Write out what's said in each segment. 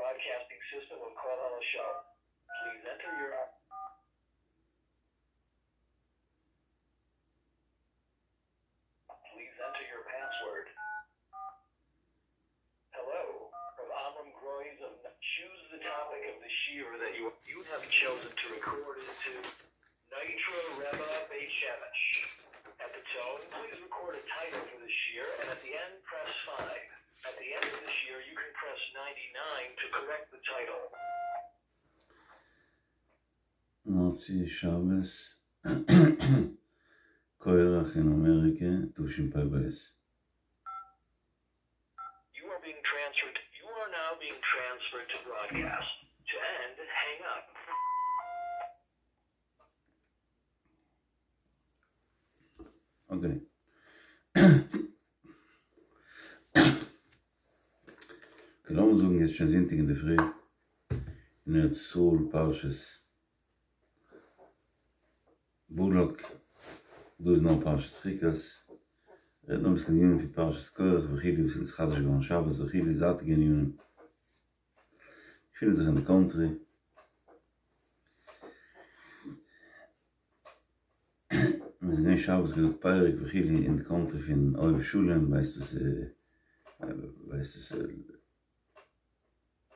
broadcasting system of Kol Show. Please enter your Please enter your password. Hello, from Amram Groys of choose the topic of the shiur that you you have chosen to record into Nitro Rebbe Beit Shemesh. At the tone, please record a title for the shiur, and at the end, press 5. At the end of the shiur, you can press 99 to correct the title. מוצאי שבת קורח אין אמעריקע תשפ"ב. You are being transferred. You are now being transferred to broadcast. To end, hang up. Okay. לאמיר זאגן יעצט שוין זונטאג אינדערפרי אין ארץ ישראל פרשת בלק, דא איז נאר פרשת חוקת, רעדן אביסל ענינים פון פרשת קרח וכו' וואס איז נתחדש געווארן שבת וכו' זייטיגע ענינים, געפינען זיך אין די קאנטרי. מ'איז געווען שבת געזאגט פרק וכו' אין די קאנטרי פון אוהב שלום ווייסט עס ווייסט עס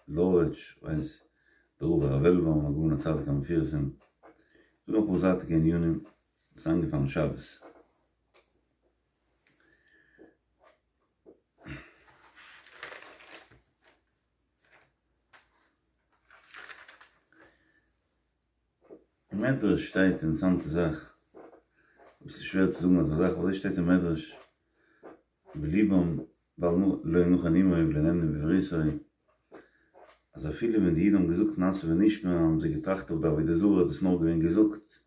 לארעדזש ווייסט דער רב הרב עלבאום הגאון הצדיק המפורסם זאגן אפאר זייטיגע ענינים וואס איז איינגעפאלן שבת. אין מדרש שטייט אינטערעסאנטע זאך, אביסל שווער צו זאגן אזא זאך, אבער אזוי שטייט אין מדרש, בלבם בל לא נכון עמו ולא נאמנו בבריתו, אז אפילו ווען די אידן האבן געזאגט נעשה ונשמע האבן זיי געטראכט אויף די עבודה זרה איז דאס נאר געווען געזאגט,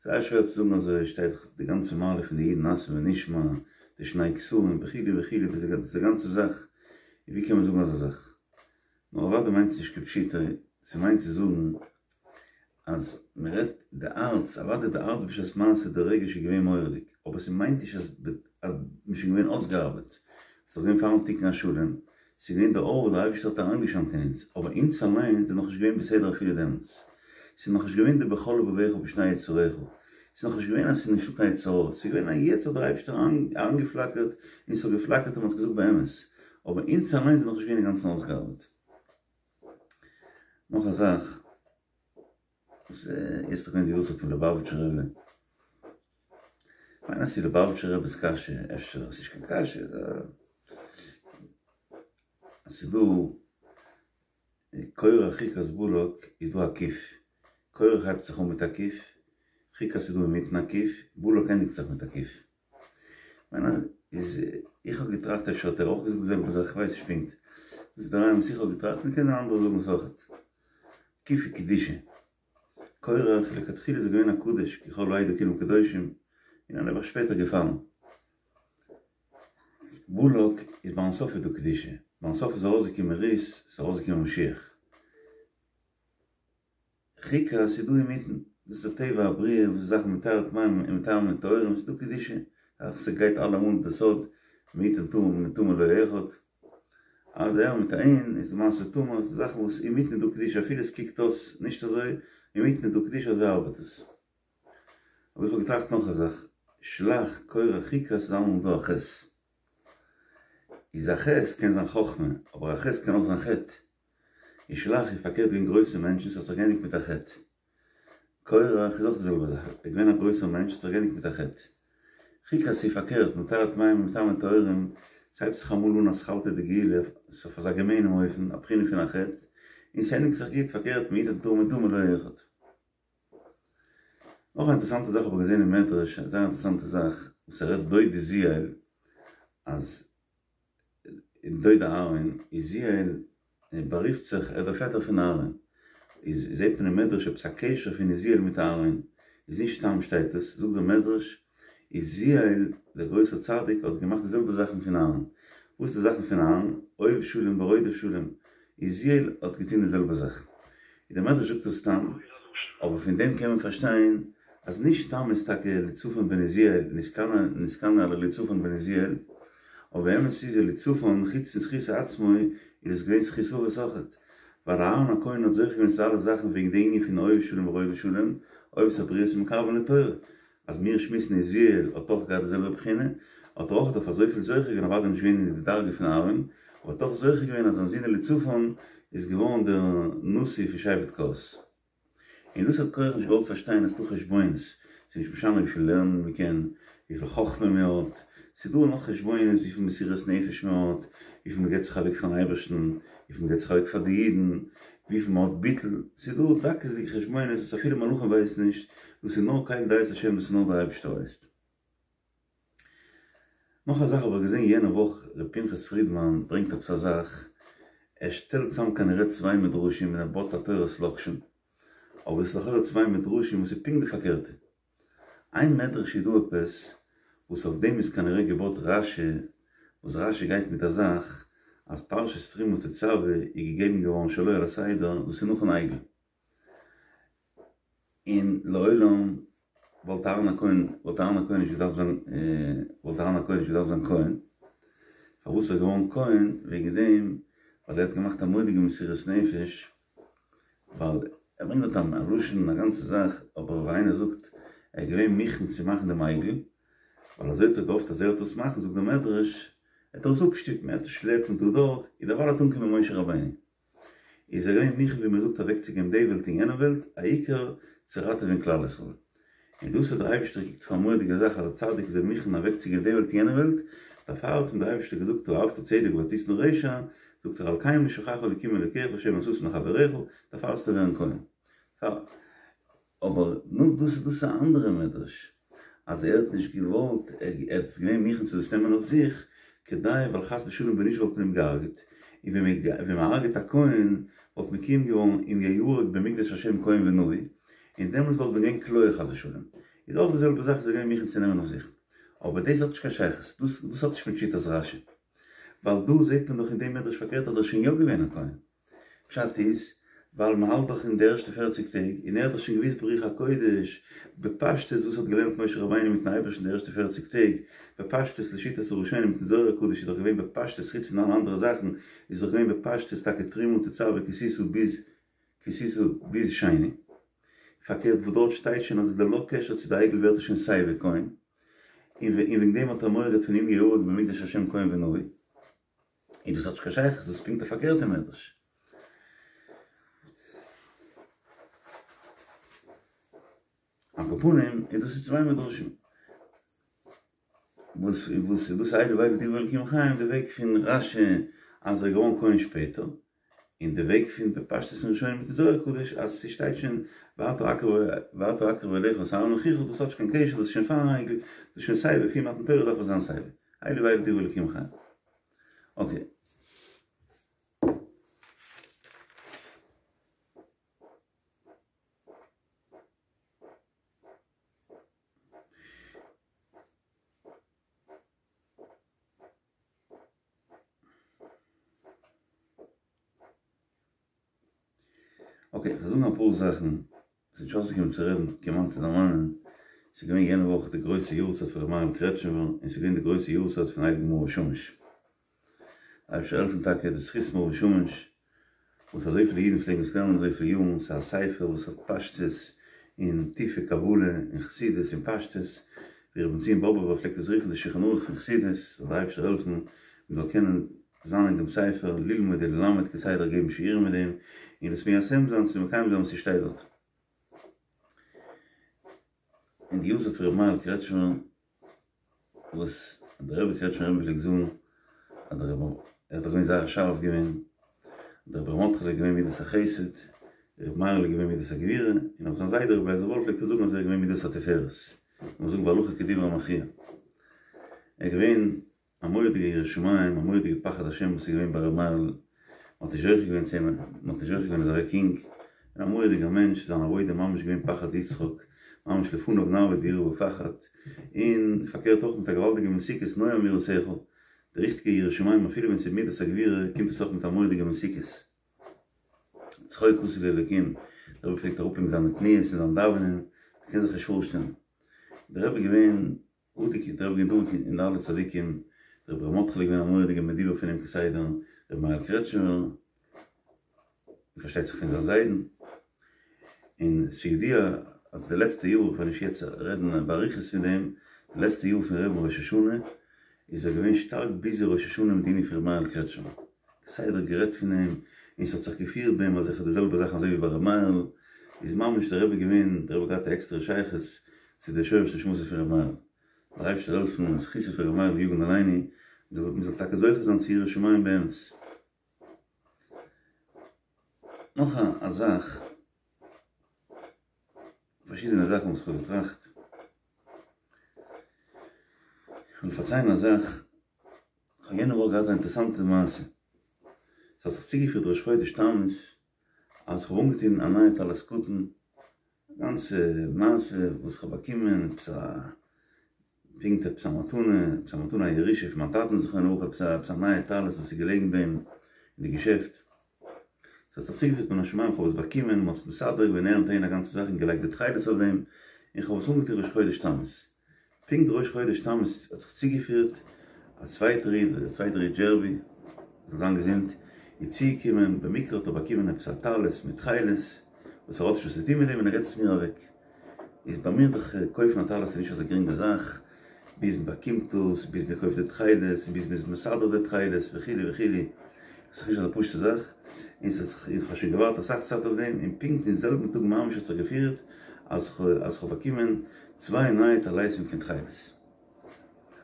זייער שווער צו זאגן אזוי שטייט דאך די גאנצע מעלה פון די אידן נעשה ונשמע, די שני כתרים וכו' וכו' דאס איז די גאנצע זאך, ווי קען מען זאגן אזא זאך? נאר אוודאי מיינט עס נישט כפשוטו, ס'מיינט צו זאגן אז מ'רעדט די הארץ, אוודאי די הארץ בשעת מעשה די רגש איז געווען מורא'דיג, אבער ס'מיינט נישט אז אז מ'איז שוין געווען אויסגעארבעט, ס'איז דאך געווען פארן תיקון השלם, ס'איז געווען די אור וואס דער אייבערשטער האט אריינגעשיינט אין אונז, אבער אונז אליין זענען נאכנישט געווען בסדר אפילו דעמאלטס, ס'איז נאכנישט געווען די בכל לבבך ובשני יצריך, ס'איז נאכנישט געווען אז ס'איז נישטא קיין יצר הרע, ס'איז געווען אז יעצט האט דער אייבערשטער אריינגעפלאקערט און ס'האט געפלאקערט און מ'האט עס געזאגט באמת, אבער אונז אליין זענען נאכנישט געווען אינגאנצן אויסגעארבעט. נאך א זאך, וואס איז דאך געווען די יארצייט פון ליובאוויטשער רבי, כ'מיין אז ס'איז ליובאוויטשער רבי'ס קשיא, אפשר ס'נישט קיין קשיא, אז ס'איז דא קורח חוקת בלק איז דא א קוף, קורח הייבט זיך אן מיט א קוף, חוקת איז דא אינמיטן א קוף, בלק ענדיגט זיך מיט א קוף. כ'מיין אז איז איך האב געטראכט אפשר האט ער אויך געזאגט די זעלבע זאך כ'ווייס נישט פונקט. דאס איז די רעיון וואס איך האב געטראכט און קען זיין אנדערע זאגן עס אויכעט. קוף איז קדושה. קורח לכתחילה איז ער געווען א קדוש כי כל העדה כולם קדושים און איז נעבעך שפעטער געפאלן. בלק איז ביים סוף איז דא קדושה. ביים סוף איז ארויסגעקומען רות, ס'איז ארויסגעקומען משיח. חוקת איז דא אינמיטן, דאס איז די טבע הבריאה וואס איז זאכן מטהר טמאים און מטהר מטהורים, ס'איז דא קדושה, אך ס'גייט אלעמאל די סוד מי יתן טמא מטמא לא אחד, אז ער מיט א אין איז למעשה טמא, ס'איז זאכן וואס אינמיטן איז דא קדושה אפילו עס קוקט אויס נישט אזוי, אינמיטן איז דא קדושה אזוי ארבעט עס. אבער איך האב געטראכט נאך א זאך, שלח קורח חוקת איז אלעמאל דא א ח'. איז א ח' קען זיין חכמה, אבער א ח' קען אויך זיין חטא. און שלח איז פארקערט געווען גרויסע מענטשן, ס'האט זיך געענדיגט מיט א חטא. קורח איז אויך די זעלבע זאך, ער איז געווען א גרויסער מענטש, ס'האט זיך געענדיגט מיט א חטא. חוקת איז פארקערט, מטהר טמאים ומטמא טהורים, ס'הייבט זיך אמאל אן אתחלתא דגאולה, ס'איז אויף אזא געמיינעם אופן, א בחינה פון א חטא, און ס'ענדיגט זיך גוט, פארקערט, מי יתן טהור מטמא לא אחד. נאך א אינטערעסאנטע זאך האב איך געזען אין מדרש, א זייער אינטערעסאנטע זאך, וואס ער רעדט דודי עוזיאל, אז דוד אהרן, עוזיאל בארופט זיך ער איז דער פעטער פון אהרן, איז זעט מען אין מדרש עפעס א קשר פון עוזיאל מיט אהרן, איז נישט סתם שטייט עס, זאגט דער מדרש, עוזיאל דער גרויסער צדיק האט געמאכט די זעלבע זאכן פון אהרן, וואס איז די זאכן פון אהרן? אוהב שלום ורודף שלום, עוזיאל האט געטון די זעלבע זאך. און דער מדרש זאגט עס סתם, אבער פון דעם קען מען פארשטיין אז נישט סתם איז טאקע אליצפן בן עוזיאל נתקנא על אליצפן בן עוזיאל, אבער באמת איז אליצפן חוץ פון זכות עצמו איז עס געווען זכות אבות אויכעט. ווייל אהרן הכהן האט זוכה געווען צו אלע זאכן וועגן די ענין פון אוהב שלום ורודף שלום, אוהב את הבריות ומקרבן לתורה. אז מיר שמועסן עוזיאל האט אויך געהאט די זעלבע בחינה, האט ער אויך אויף אזויפיל זוכה געווען אוודאי נישט געווען אין די דרגה פון אהרן, אבער האט אויך זוכה געווען אז זיין זון אליצפן איז געווארן דער נשיא פון שבט קהת. און דאס האט קרח נישט געוואלט פארשטיין אז ס'דא חשבונות, ס'איז נישט משנה וויפיל לערנען מען קען, וויפיל חכמה מען האט, ס'איז דא נאך חשבונות וויפיל מסירות נפש מען האט, וויפיל מען געבט זיך אוועק פארן אייבערשטן, וויפיל מען געבט זיך אוועק פאר די אידן, וויפיל מען האט ביטול, ס'איז דא דקות'דיגע חשבונות וואס אפילו מלאכים ווייסן נישט, דאס איז נאר קל דעות השם, דאס איז נאר דער אייבערשטער ווייסט. נאך א זאך האב איך געזען יענע וואך ר' פנחס פרידמאן ברענגט עפעס א זאך, ער שטעלט צאם כנראה צוויי מדרשים און ער בויט א תורת לאקשן, אבער עס איז לכאורה צוויי מדרשים וואס איז פונקט די פארקערטע. איין מדרש איז דא עפעס וואס אויף דעם איז כנראה געבויט רשי, וואס רשי גייט מיט א זאך אז פרשת תרומה תצוה איז געגעבן געווארן שלא על הסדר, דאס איז נאכן עגל. און לעולם וואלט אהרן הכהן וואלט אהרן הכהן נישט געדארפט זיין וואלט אהרן הכהן נישט געדארפט זיין כהן, פארוואס איז ער געווארן כהן? וועגן דעם ווייל ער האט געמאכט א מורא'דיגע מסירות נפש, ווייל ער ברענגט דארט א לשון א גאנצע זאך, אבער ווי איינער זאגט ער איז געווען מוכן צו מאכן דעם עגל, ווייל אזוי האט ער געהאפט אז ער וועט עס מאכן, זאגט דער מדרש, ער וועט עס אפשטופן, ער וועט עס שלעפן דא דארט, און דערווייל וועט אנקומען משה רבינו. איז ער געווען מוכן ווי מען זאגט אוועקצוגעבן די וועלט און יענע וועלט, העיקר צו ראטעווען כלל ישראל. און דאס האט דער אייבערשטער געקוקט פאר א מורא'דיגע זאך אז א צדיק איז מוכן אוועקצוגעבן די וועלט און יענע וועלט, דערפאר האט אים דער אייבערשטער געזאגט אהבת צדק ותשנא רשע, זאגט ער על כן משחך אלוקים אלוקיך שמן ששון לחבריך, דערפאר זאלסטו ווערן כהן. אבער נו דאס איז דאס א אנדערע מדרש אז ער האט נישט געוואלט ער איז געווען מוכן צו דאס נעמען אויף זיך כדי ווייל חס ושלום ווען נישט וואלט מען אים געהארגעט און ווען מען הארגעט א כהן וואלט מקוים געווארן אם יהרג במקדש השם כהן ונביא און דעמאלטס וואלט מען געווען כליה חס ושלום איז אויך די זעלבע זאך איז ער געווען מוכן צו נעמען אויף זיך אבער דאס האט נישט קיין שייכות דאס דאס האט נישט מיט שיטת רשי ווייל דא זעט מען דאך אין דעם מדרש פארקערט אז ער איז שוין יא געווען א כהן. פשט איז, ווייל מען האלט דאך אין די ערשטע פערציג טעג, און ער האט דאך שוין געוואוסט ברוח הקודש, בפשטות וואס האט געלערנט משה רבינו מיטן אייבערשטן די ערשטע פערציג טעג, בפשטות לשיטת הראשונים מיטן זוהר הקדוש איז דאך געווען בפשטות חוץ פון אלע אנדערע זאכן איז דאך געווען בפשטות טאקע תרומה תצוה כי תשא ביז כי תשא ביז שני. פארקערט וואס דארט שטייט שוין אז ללא קשר צו די עגל ווערט ער שוין סייווי כהן, און וועגן דעם האט ער מורא געהאט פון אם יהרג במקדש השם כהן ונביא. און דאס האט נישט קיין שייכות, דאס איז פונקט א פארקערטע מדרש. על כל פנים, איז דאס איז צוויי מדרשים. וואס וואס איז דאס אלו ואלו דברי אלקים חיים, די וועג פון רשי אז ער איז געווארן כהן שפעטער, און די וועג פון בפשטות פון ראשונים מיטן זוהר הקדוש אז ס'שטייט שוין ועתה הקרב ועתה הקרב אליך את אהרן אחיך דאס האט נישט קיין קשר דאס איז שוין פארן עגל, דאס איז שוין סייווי פון מתן תורה דארף עס זיין סייווי. אלו ואלו דברי אלקים חיים. אקעי. אקעי, כ'וועל זאגן אפאר זאכן, ס'איז נישט אויסגעקומען צו רעדן כמעט צו דערמאנען, ס'איז געווען יענע וואך די גרויסע יארצייט פון ר' מאיר'ל קרעטשניפער, און ס'איז געווען די גרויסע יארצייט פון הייליגן מאור ושמש. אייבערשטער העלפן טאקע די זכות מאור ושמש, וואס אזויפיל אידן פלעגן עס לערנען אזויפיל יארן, ס'איז א ספר וואס האט פשטות און טיפע קבלה און חסידות און פשטות, ווי ר' בנציון באבובער פלעגט עס רופן די שולחן ערוך פון חסידות, זאל דער אייבערשטער העלפן מ'זאל קענען זיין אין דעם ספר, ללמוד וללמד כסדר געבן שיעורים מיט דעם, און עס מיישם זיין צו מקיים זיין וואס ס'שטייט דארט. אין די יארצייט פון ר' מאיר'ל קרעטשמער, וואס דער רבי קרעטשמער רבי פלעגט זאגן אז דער רבי ער איז דאך געווען זייער שארף געווען, דער רבי ר' מרדכי'לע איז געווען מידת החסד, ר' מאיר'ל איז געווען מידת הגבורה, און אויף זיין זיידע רבי לייזער וואלף פלעגט ער זאגן אז ער איז געווען מידת התפארת, מ'זאל זאגן והלכה כדברי המכריע. ער איז געווען א מורא'דיגע ירא שמים, א מורא'דיגע פחד השם וואס איז געווען ביי ר' מאיר'ל, מ'האט נישט זוכה געווען צו אים, מ'האט נישט זוכה געווען איז אוועק יונג, און א מורא'דיגער מענטש, זיין עבודה ממש געווען פחד יצחק, ממש לפניו נעבוד ביראה ופחד, און פארקערט אויך מיט א געוואלדיגע מתיקות נועם יראתך, די ריכטיגע ירא שמים אפילו ווען ס'איז מידת הגבורה קומט עס אויך מיט א מורא'דיגע מתיקות. צחוק עשו לי אלוקים, דער רבי פלעגט אראפלייגן זיינע תנועות אין זיין דאווענען, מ'קען זיך נישט פארשטעלן. דער רבי איז געווען אדוק דער רבי געווען דבוק אין אלע צדיקים, דער רבי ר' מרדכי'לע איז געווען א מורא'דיגער מדובר פון אים כסדר, רבי מאיר'ל קרעטשניפער. פארשטייט זיך פון זיין זיידן, און ס'ידוע אז די לעצטע יאר, כ'וועל נישט יעצט רעדן באריכות פון דעם, די לעצטע יאר פון רבי'ן ראש השנה איז ער געווען שטארק ביזי ראש השנה מיט די ענין פון ר' מאיר'ל קרעטשמער, כסדר גערעדט פון אים, און ס'האט זיך געפירט ביי אים אזעלכע די זעלבע זאכן אזוי ווי ביי ר' מאיר'ל, איז ממש דער רבי געווען, דער רבי האט געהאט א עקסטערע שייכות צו די שורש נשמתו פון ר' מאיר'ל. דער אייבערשטער זאל העלפן און זכותו פון ר' מאיר'ל יגן עלינו, מ'זאל טאקע זוכה זיין צו יראת שמים באמת. נאך א זאך, פארשידענע זאכן וואס כ'האב געטראכט, כ'וויל פארציילן א זאך, כ'האב יענע וואך געהאט א אינטערעסאנטע מעשה, ס'האט זיך צוגעפירט ראש חודש תמוז, אז כ'האב אנגעטון א נייע טלית קטן, א גאנצע מעשה וואס כ'האב באקומען, עפעס א פונקט עפעס א מתנה, עפעס א מתנה א ירושה פון מיין טאטן זכרונו לברכה, עפעס א עפעס א נייע טלית וואס איז געלעגן ביי אים אין די געשעפט, ס'האט זיך צוגעפירט מן השמים, כ'האב עס באקומען, מ'האט עס מסדר געווען אהער און אהין א גאנצע זאך און געלייגט די תכלת אויף דעם, און כ'האב עס אנגעטון ראש חודש תמוז. פונקט ראש חודש תמוז האט זיך צוגעפירט א צווייטער איד, דער צווייטער איד דזשערבי, זאל זיין געזונט, איז צוגעקומען, במקרה האט ער באקומען עפעס א טלית מיט תכלת, וואס ער האט נישט וואס צו טון מיט דעם און ער געבט עס מיר אוועק. איז ביי מיר דאך קויפן א טלית איז נישט אזא גרינגע זאך, ביז מען באקומט דאס, ביז מען קויפט די תכלת, און ביז מען איז מסדר די תכלת וכו' וכו', איז דאך נישט אזא פשוטע זאך, און ס'האט זיך, איך האב שוין געווארט אסאך צייט אויף דעם, און פונקט אין זעלבן טאג ממש האט זיך געפירט אז כ'האב באקומען צוויי נייע טליתים פון תכלת.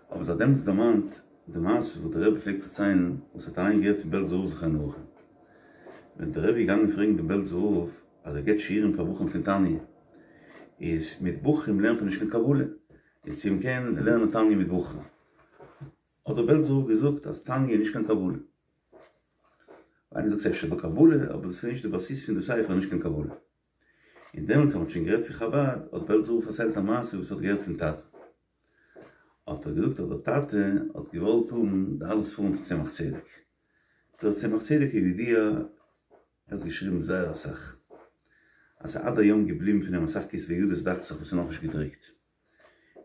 האב איך זיך דעמאלטס דערמאנט די מעשה וואס דער רבי פלעגט פארציילן וואס ער האט אליין געהערט פון בעלזער רב זכרונו לברכה. ווען דער רבי איז געגאנגען פרעגן דעם בעלזער רב אז ער געבט שיעורים פאר בחורים פון תניא, איז מיט בחורים לערנט מען נישט קיין קבלה, איז צו מ'קען לערנען תניא מיט בחורים. האט דער בעלזער רב געזאגט אז תניא איז נישט קיין קבלה. איינער זאגט ס'איז אפשר דא קבלה, אבער דאס איז נישט די בסיס פון די ספר, נישט קיין קבלה. און דעמאלטס אז מ'האט שוין גערעדט פון חבד, האט בעלזער רב פארציילט א מעשה וואס ער האט געהערט פון טאטן. האט ער געזאגט אז דער טאטע האט געוואלט האבן די אלע ספרים פון צמח צדק. דער צמח צדק כידוע האט געשריבן זייער אסאך. אז ס'איז עד היום געבליבן פון אים אסאך כתבי ידות דאכט זיך וואס איז נאכנישט געדרוקט.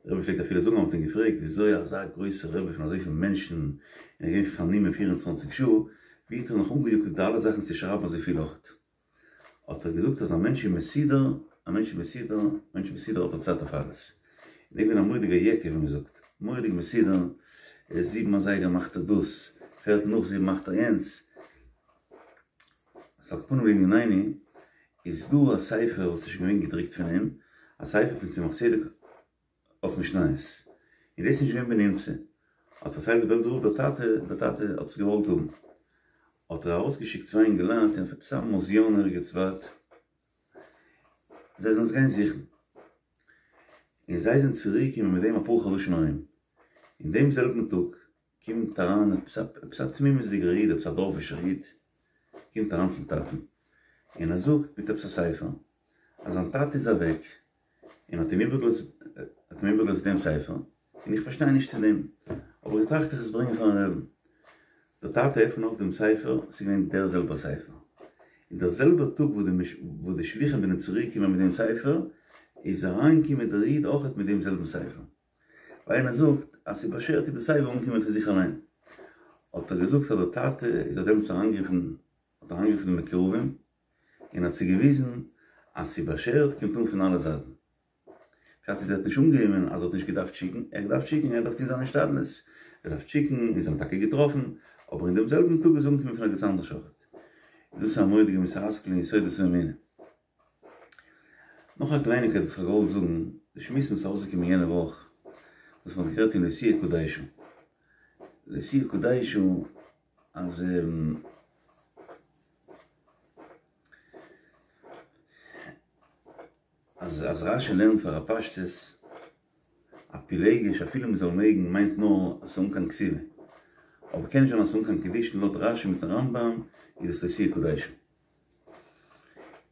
דער רבי פלעגט אפילו זאגן אז מ'האט אים געפרעגט וויאזוי אזא גרויסער רבי פון אזויפיל מענטשן און ער איז געווען פארנומען פיר און צוואנציג שעה, ווי האט ער נאך אנגעיאגט די אלע זאכן צו שרייבן אזויפיל אויך? האט ער געזאגט אז א מענטש איז מסודר, א מענטש איז מסודר, א מענטש איז מסודר האט ער צייט אויף אלעס. און ער איז געווען א מורא'דיגער יעקע ווי מ'זאגט, מורא'דיג מסודר, זיבן אזייגער מאכט ער דאס, פערטל נאך זיבן מאכט ער יענץ. על כל פנים לענינינו, איז דא א ספר וואס איז שוין געווען געדרוקט פון אים, א ספר פון צמח צדק אויף משניות, און דאס איז נישט געווען בנמצא, האט פארציילט דער בעלזער רב דער טאטע, דער טאטע האט עס געוואלט האבן, האט ער ארויסגעשיקט צוויי אינגעלייט אויף עפעס א מוזיאון ערגעץ ווייט, זיי זאלן עס גיין זוכן, און זיי זענען צוריק געקומען מיט דעם אפאר חדשים ארום, אין דעם זעלבן טאג קומט אריין עפעס עפעס א תמימות'דיגער איד, עפעס א דארפישער איד, קומט אריין צום טאטן, און ער זאגט מיט עפעס א ספר, אז זיין טאטע איז אוועק, און האט אים איבערגעלאזט, האט אים איבערגעלאזט דעם ספר, און איך פארשטיי נישט צו דעם, אבער איך טראכט איך עס ברענגען פארן רעבן. דער טאטע עפנט אויף דעם ספר, ס'איז געווען דער זעלבער ספר. און דער זעלבער טאג וואס די וואס די שליחים זענען צוריק געקומען מיט דעם ספר, איז אריינגעקומען דער איד אויכעט מיט דעם זעלבן ספר. ווייל איינער זאגט אז ס'איז באשערט איז דאס סייווי אנגעקומען פון זיך אליין. האט ער געזאגט אז דער טאטע איז האט דעמאלטס אריינגערופן האט אריינגערופן די מקורבים און האט זיי געוויזן אז ס'איז באשערט קומט אן פון אלע זייטן. פשט איז ער האט נישט אנגענומען אז ער האט נישט געדארפט שיקן, ער האט געדארפט שיקן, ער האט געדארפט טון זיין השתדלות, ער דארף שיקן און זיי האבן טאקע געטראפן, אבער אין דעם זעלבן טאג איז אנגעקומען פון ערגעץ אנדערש אויכעט. דאס איז א מורא'דיגע מוסר השכל אין יסודות האמונה. נאך א קלייניקייט וואס כ'האב געוואלט זאגן, די שמועסן וואס איז ארויסגעקומען יענע וואך, וואס מ'האט גערעדט אין לא תהיה קדשה, לא תהיה קדשה אז אז אז רשי לערנט פאר א פשטות א פילגש אפילו מ'זאל מעגן מיינט נאר אז ס'איז אן קיין כתובה, אבער קען נישט זיין אז ס'איז אן קיין קידושין לויט רשי מיטן רמב"ם איז עס לא תהיה קדשה.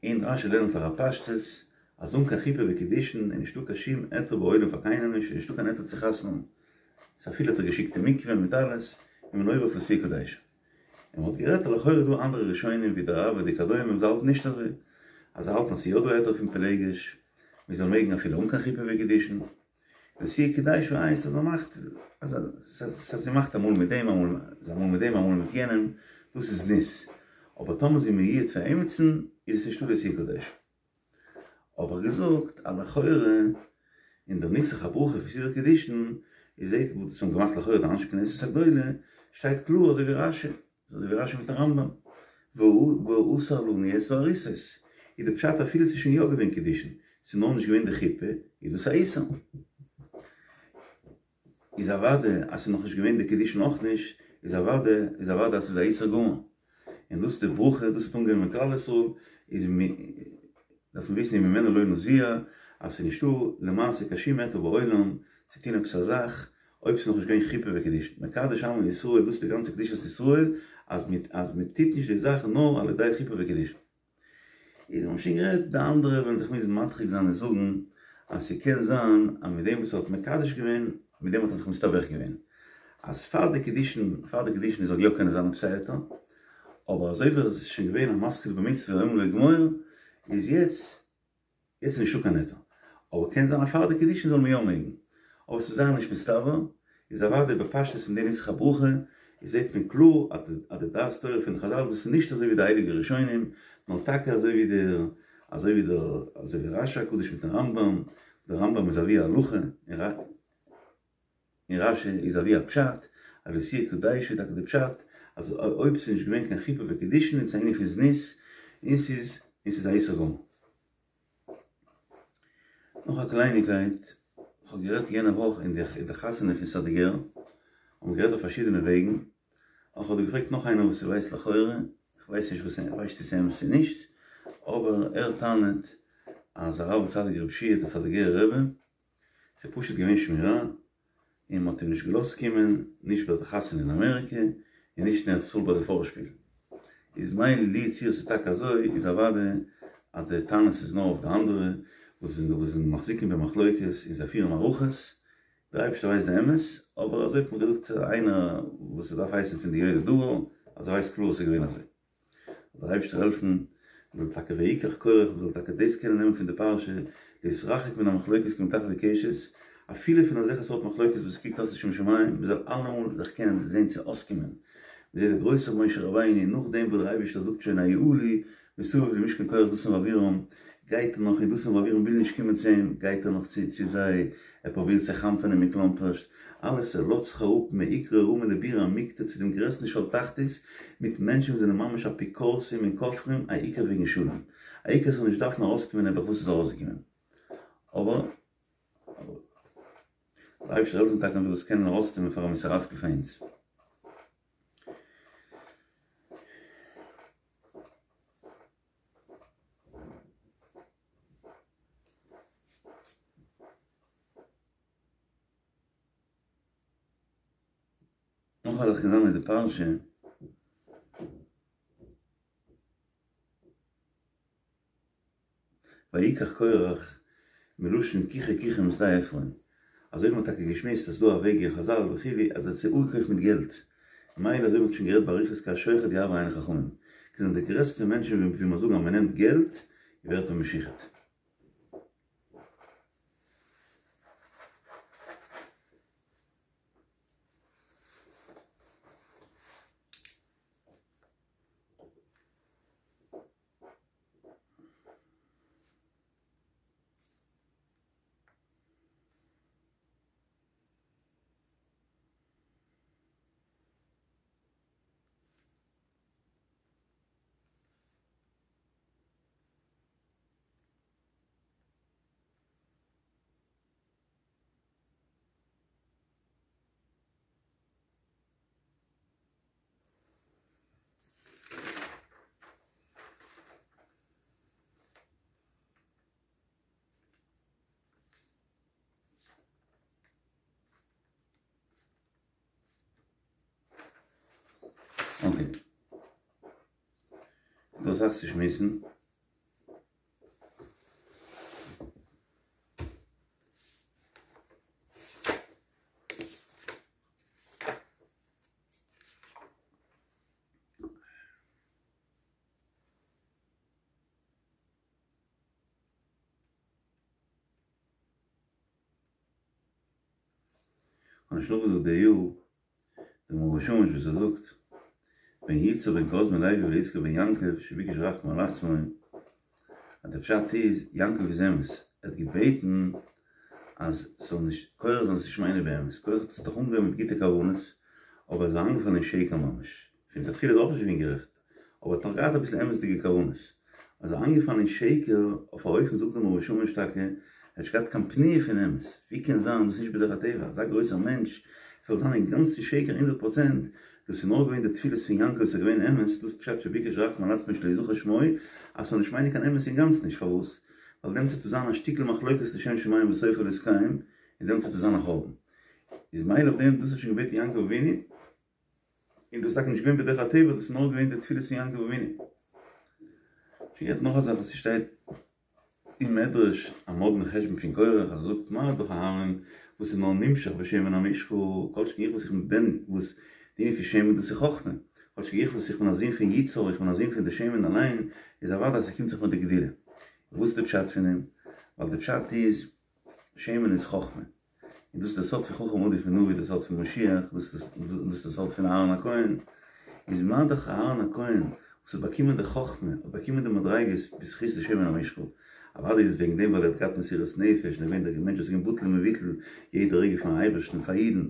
און רשי לערנט פאר א פשטות אז אן קיין חופה וקידושין איז נישטא קיין שום היתר בעולם פאר קיינעם נישט, איז נישטא קיין היתר צו חתונה האבן, סא אפילו האט ער געשיקט אין מקווה מיט אלעס, איז מען עובר אויף לא תהיה קדשה. און מ'האט גערעדט אז לכאורה איז דא אנדערע ראשונים ווי דער ראב"ד וכדומה וואס האלטן נישט אזוי, אז זיי האלטן אז ס'איז יא דא היתר פון פילגש, מ'זאל מעגן אפילו אן קיין חופה וקידושין. לא תהיה קדשה הייסט אז ער מאכט אז זי מאכט אמאל מיט דעם אמאל מיט דעם אמאל מיט יענעם, דאס איז זנות. אבער טאמער זי מיועד פאר עמיצן איז עס נישטא לא תהיה קדשה. האב איך געזאגט אז לכאורה אין דער נוסח הברכה פון סידור קידושין איז זעהט וואס דאס האבן געמאכט לכאורה די אנשי כנסת הגדולה שטייט קלאר אזוי ווי רשי אזוי ווי רשי מיטן רמב"ם והאסר לנו את הארוסות איז די פשט אפילו ס'איז שוין יא געווען קידושין ס'איז נאר נישט געווען די חופה איז דאס א איסור. איז אוודאי אז ס'איז נאכנישט געווען די קידושין אויך נישט, איז אוודאי איז אוודאי אז ס'איז א איסור גמור. און דאס איז די ברכה, דאס האט אנגענומען כלל ישראל, איז מ דארף מען וויסן וממנו לא נזוע, אז ס'איז נישטא למעשה קיין שום היתר בעולם צו טון עפעס א זאך אויב ס'איז נאכנישט געווען חופה וקידושין. מקדש עמו ישראל, דאס איז די גאנצע קדושת ישראל, אז מ אז מ'טוט נישט די זאך נאר על ידי חופה וקידושין. איז האבן שוין גערעדט די אנדערע וועלן זיך מוזן מדחיק זיין און זאגן אז ס'קען זיין אז מיט דעם וואס ער האט מקדש געווען מיט דעם האט ער זיך מסתבך געווען אז פאר די קידושין פאר די קידושין זאל יא קענען זיין עפעס א היתר אבער אזוי ווי ער איז שוין געווען א מתחיל במצוה לעולם לא יגמור איז יעצט יעצט איז נישטא קיין היתר. אבער קען זיין אז פאר די קידושין זאל מען יא מעגן. אבער ס'איז זייער נישט מסתבר. איז אוודאי בפשטות פון די נוסח הברכה איז זעט מען קלאר אז די דעת תורה פון חזל דאס איז נישט אזוי ווי די הייליגע ראשונים, נאר טאקע אזוי ווי די אזוי ווי די אזוי ווי רשי הקדוש מיטן רמב"ם, דער רמב"ם איז אבי ההלכה, און רשי איז אבי הפשט, אז לא תהיה קדשה איז טאקע די פשט אז אויב ס'איז נישט געווען קיין חופה וקידושין איז עס א ענין פון זנות און ס'איז און ס'איז א איסור גמור. נאך א קלייניקייט, כ'האב גערעדט יענע וואך אין די חתונה פון סאדיגער, האבן מיר גערעדט אויף פארשידענע וועגן, און כ'האב דא געפרעגט נאך איינער וואס ווייסט לכאורה, כ'ווייס נישט וואס ער ווייסט צו ס'איז אמת צו נישט, אבער ער טענה'ט אז הרב הצדיק רבי שיע דער סאדיגערער רבי, ס'איז פשוט געווען שמירה, און מ'האט אים נישט געלאזט קומען, נישט ביי די חתונה אין אמעריקע, און נישט אין ארץ ישראל ביי די פארשפיל. איז מילא לו יצויר ס'איז טאקע אזוי, איז אוודאי אז די טענות איז נאר אויף די אנדערע וואס זענען וואס זענען מחזיקים במחלוקת און זיי פירן מערכות, דער אייבערשטער ווייסט די אמת, אבער אזוי האט מיר געזאגט איינער וואס ס'דארף הייסן פון די יודעי דבר, אז ער ווייסט קלאר אז ס'איז געווען אזוי. זאל דער אייבערשטער העלפן מען זאל טאקע ויקח קרח מען זאל טאקע דאס קענען נעמען פון די פרשה, להתרחק מן המחלוקת כמטחווי קשת, אפילו פון אזעלכע סארט מחלוקת וואס קוקט אויס לשם שמים, מען זאל אלעמאל זיך קענען זען צו אויסקומען, מען זעט דער גרויסער משה רבינו נאכדעם וואס דער אייבערשטער זאגט שוין היעלו מסביב למשכן קרח דתן ואבירם, גייט ער נאך און דתן ואבירם ווילן נישט קומען צו אים, גייט ער נאך צו צו זיי, ער פרובירט זיי חנפ'ענען מכלומפערשט, אלעס ער לאזט זיך אראפ מעיקרא רמי לבירא עמיקתא צו דעם גרעסטן שאול תחתית, מיט מענטשן וואס זענען ממש אפיקורסים און כופרים, א עיקר וועגן שלום, א עיקר ס'זאל נישט דארפן ארויסקומען נעבעך וואס איז ארויסגעקומען. אבער אבער דער אייבערשטער זאל העלפן טאקע מ'זאל עס קענען ארויסנעמען פאר א מוסר השכל פאר אונז. נאך א זאך קען זיין מיט די פרשה. ויקח קרח מלשון קיחה קיחה משדה עפרון. אזוי ווי מ'האט טאקע געשמועסט אז ס'דא א וועג אין חזל וכו' אז ער האט זיי אפגעקויפט מיט געלט. מילא אזוי ווי מ'האט שוין גערעדט באריכות כי השוחד יעוור עיני חכמים. זענען די גרעסטע מענטשן ווי מ'זאגן אז מ'נעמט געלט ווערט מען משוחד. אקעי. ס'דא אסאך צו שמועסן. כ'האב נישט נאכגעזאגט די יאר דעם מאור ושמש וואס ער זאגט. בן יצהר בן קהת בן לוי ולא יזכור בן יעקב שביקש רחמים על עצמו, אז די פשט איז יעקב איז אמת, ער האט געבעטן אז ס'זאל נישט, קורח זאל עס נישט מיינען באמת, קורח האט עס דאך אנגעהויבן מיט גוטע כוונות, אבער ער איז אריינגעפאלן אין שקר ממש, פון לכתחילה איז ער אויך נישט געווען גערעכט, אבער האט נאך געהאט אביסל אמת'דיגע כוונות, אז ער איז אריינגעפאלן אין שקר אויף א אופן זאגט דער מאור ושמש טאקע, ער האט נישט געהאט קיין פניה פון אמת, ווי קען זיין, דאס איז נישט בדרך הטבע, אזא גרויסער מענטש זאל זיין אינגאנצן שקר הונדערט פראצענט, דאס איז נאר געווען די תפילות פון יעקב וואס איז געווען אמת, דאס איז פשט שביקש רחמים על עצמו שלא יזכר שמו, אז ס'זאל נישט מיינען קיין אמת אינגאנצן נישט, פארוואס? ווייל דעמאלטס וועט עס זיין א שטיקל מחלוקת לשם שמים וסופו להתקיים, און דעמאלטס וועט עס זיין א חורבן. איז מילא אויף דעם, דאס האט שוין געבעטן יעקב אבינו, און דאס איז טאקע נישט געווען בדרך הטבע, דאס איז נאר געווען די תפילות פון יעקב אבינו. שוין געהערט נאך א זאך וואס ס'שטייט אין מדרש, א מאדנע חשבון פון קורח, אז ער זאגט מה דאך אהרן וואס איז נאר נמשח בשמן המשחה, כל שכן איך וואס איך בין וואס די ענין פון שמן דאס איז חכמה, כל שכן איך וואס איך בין א זון פון יצהר, איך בין א זון פון די שמן אליין, איז אוודאי אז ס'קומט זיך מיר די גדולה. וואס איז די פשט פון דעם? ווייל די פשט איז, שמן איז חכמה. און דאס איז די סוד פון חכם עדיף מנביא, די סוד פון משיח, דאס איז די סוד פון אהרן הכהן, איז מה דאך אהרן הכהן וואס האט באקומען די חכמה, האט באקומען די מדריגות בזכות די שמן המשחה, אוודאי איז עס וועגן דעם ווייל ער האט געהאט מסירות נפש און ער איז געווען דער מענטש וואס איז געווען בטל ומבוטל יעדע רגע פארן אייבערשטן און פאר אידן.